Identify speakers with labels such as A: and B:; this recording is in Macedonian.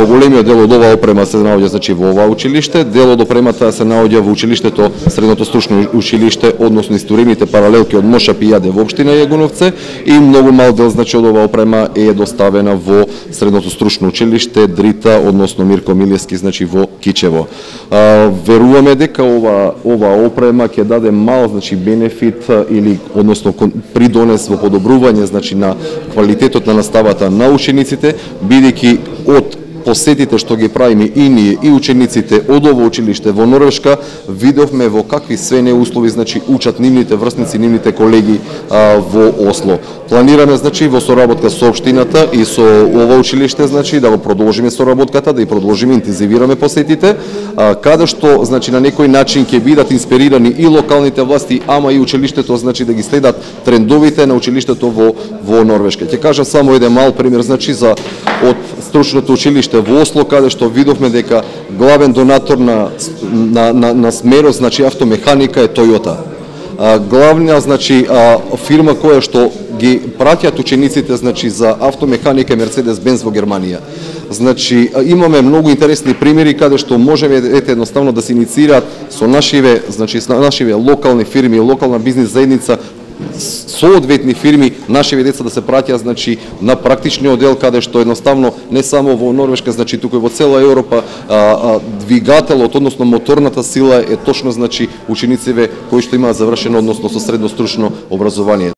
A: Поголемиот дел од оваа опрема се наоѓа значи во оваа училиште, дел од опремата се наоѓа во училиштето, средното стручно училиште, односно исторioните паралелки од Мошап и Јаде во општина Јагуновце, и многу мал дел значи од оваа опрема е доставена во средното стручно училиште Дрита, односно Мирко Милевски, значи во Кичево. Веруваме дека ова опрема ќе даде мал значи бенефит или односно придонес во подобрување значи на квалитетот на наставата на учениците, бидејќи од посетите што ги правиме и ние и учениците од ово училиште во Норвешка, видовме во какви све неуслови значи учат нивните врсници, нивните колеги во Осло. Планираме значи во соработка со општината и со ова училиште значи да го продолжиме соработката, да и продолжиме интензивираме посетите, каде што значи на некој начин ќе бидат инспирирани и локалните власти, ама и училиштето значи да ги следат трендовите на училиштето во Норвешка. Ќе кажам само еден мал пример значи за од стручното училиште во Осло, каде што видовме дека главен донатор на смерот значи автомеханика е Toyota. Главна значи фирма која што ги праќаат учениците значи за автомеханика Mercedes-Benz во Германија. Значи имаме многу интересни примери каде што можеме едноставно да се инициираат со нашиве локални фирми, локална бизнис заедница, соодветни фирми, нашиве деца да се праќаат значи на практичниот дел, каде што едноставно не само во Норвешка, значи туку и во цела Европа двигателот, односно моторната сила е точно значи учениците кои што имаат завршено односно со средно стручно образование.